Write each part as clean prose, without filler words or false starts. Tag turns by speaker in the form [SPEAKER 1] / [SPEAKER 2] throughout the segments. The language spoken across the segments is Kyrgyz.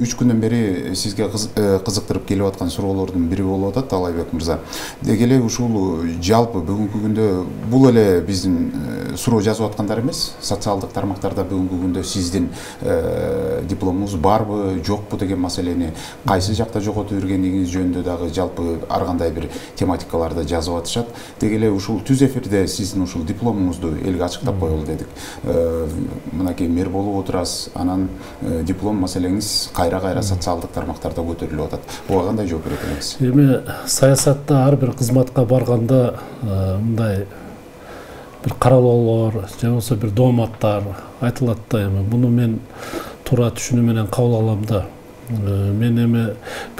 [SPEAKER 1] Үч күндөн бери сизге кызыктырып келип аткан суроолордун бири болуп атат, Талайбек мырза. Деги эле ушул жалпы бүгүнкү күндө бул эле биздин суроо жазып аткандар эмес, социалдык тармактарда бүгүнкү күндө сиздин дипломуңуз барбы, жокпу деген маселени, кайсы жакта жоготуп жүргениңиз жөнүндө дагы жалпы ар кандай бир тематикаларда жазып атышат. Деги эле ушул түз эфирде сиздин ушул дипломуңузду элге ачыктап коелу дедик. Мынакей мэр болуп отурасыз, анан диплом маселеңиз кайра социалдык тармактарда көтөрүлүп атат. Буга кандай жооп берет элеңиз?
[SPEAKER 2] Эми саясатта ар бир кызматка барганда мындай бир каралоолор же болбосо бир дооматтар айтылат да, эми муну мен туура түшүнүү менен кабыл алам да. Мен эми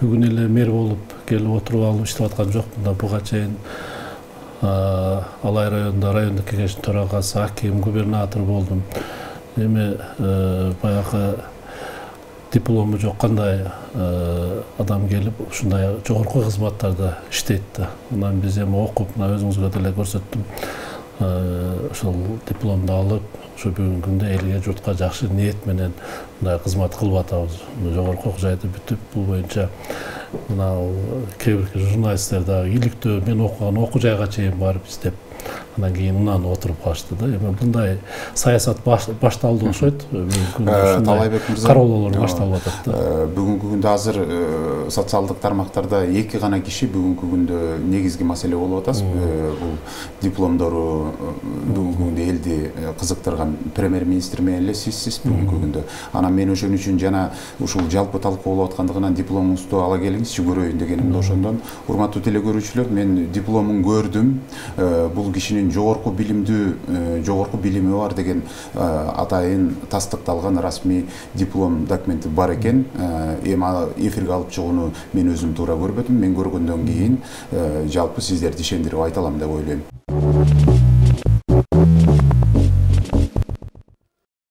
[SPEAKER 2] бүгүн эле мэр болуп келип отуруп алып иштеп аткан жокмун да. Буга чейин Алай районунда райондук кеңештин төрагасы, аким, губернатор болдум. Эми баягы диплому жок кандай адам келип ушундай жогорку кызматтарда иштейт да. Анан биз эми окуп, мына өзүңүзгө деле көрсөттүм, ошол дипломду алып, ушу бүгүнкү күндө элге, журтка жакшы ниет менен мындай кызмат кылып атабыз. Жогорку окуу жайды бүтүп, бул боюнча мына кээ бир журналисттер дагы иликтөө мен окуган окуу жайга чейин барып издеп, анан кийин унан отуруп калышты да. Эми мындай саясат башталды окшойт.
[SPEAKER 1] Талайбек мырза,
[SPEAKER 2] кароолор башталып атат да.
[SPEAKER 1] Бүгүнкү күндө азыр социалдык тармактарда эки гана киши бүгүнкү күндө негизги маселе болуп атат. Бул дипломдору бүгүнкү күндө элди кызыктырган премьер-министр менен эле сизсиз бүгүнкү күндө. Анан мен ошон үчүн жана ушул жалпы талкуу болуп аткандыгынан дипломуңузду ала келиңизчи көрөйүн дегенимде ошондон. Урматтуу телекөрүүчүлөр, мен дипломун көрдүм. Бул кишинин жогорку билими бар деген атайын тастыкталган расмий диплом документи бар экен. Эми эфирге алып чыгууну мен өзүм туура көрбөдүм. Мен көргөндөн кийин жалпы сиздерди ишендирип айта алам деп ойлойм.